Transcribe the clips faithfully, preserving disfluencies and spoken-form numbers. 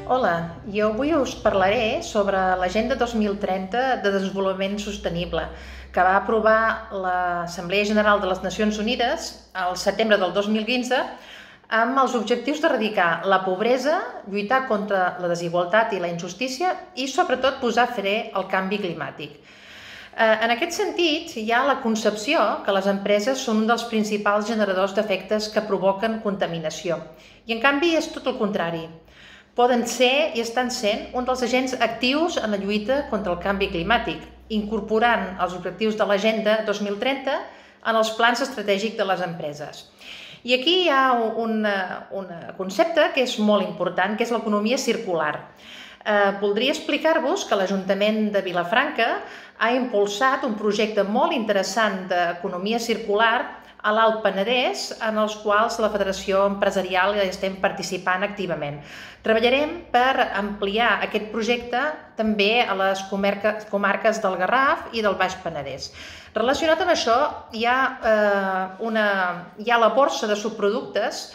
Hola, jo avui us parlaré sobre l'Agenda dos mil trenta de Desenvolupament Sostenible, que va aprovar l'Assemblea General de les Nacions Unides al setembre del dos mil quinze amb els objectius d'erradicar la pobresa, lluitar contra la desigualtat i la injustícia i, sobretot, posar fre al canvi climàtic. En aquest sentit, hi ha la concepció que les empreses són un dels principals generadors d'efectes que provoquen contaminació. I, en canvi, és tot el contrari. Poden ser i estan sent un dels agents actius en la lluita contra el canvi climàtic, incorporant els objectius de l'Agenda dos mil trenta en els plans estratègics de les empreses. I aquí hi ha un, un concepte que és molt important, que és l'economia circular. Eh, voldria explicar-vos que l'Ajuntament de Vilafranca ha impulsat un projecte molt interessant d'economia circular a l'Alt Penedès, en els quals la Federació Empresarial estem participant activament. Treballarem per ampliar aquest projecte també a les comarques del Garraf i del Baix Penedès. Relacionat amb això, hi ha, eh, una, hi ha la borsa de subproductes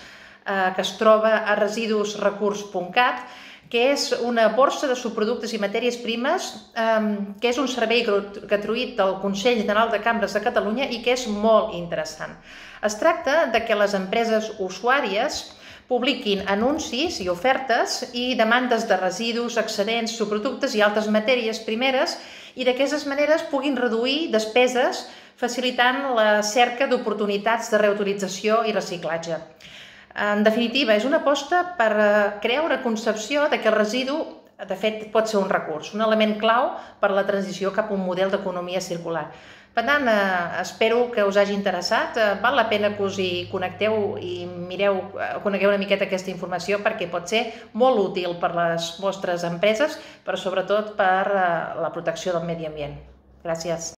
eh, que es troba a residusrecurs punt cat, que és una borsa de subproductes i matèries primes, eh, que és un servei gratuït del Consell General de Cambres de Catalunya i que és molt interessant. Es tracta de que les empreses usuàries publiquin anuncis i ofertes i demandes de residus, excedents, subproductes i altres matèries primeres i d'aquestes maneres puguin reduir despeses facilitant la cerca d'oportunitats de reutilització i reciclatge. En definitiva, és una aposta per crear una concepció de que el residu, de fet, pot ser un recurs, un element clau per a la transició cap a un model d'economia circular. Per tant, espero que us hagi interessat. Val la pena que us hi connecteu i mireu, conegueu una miqueta aquesta informació perquè pot ser molt útil per a les vostres empreses, però sobretot per a la protecció del medi ambient. Gràcies.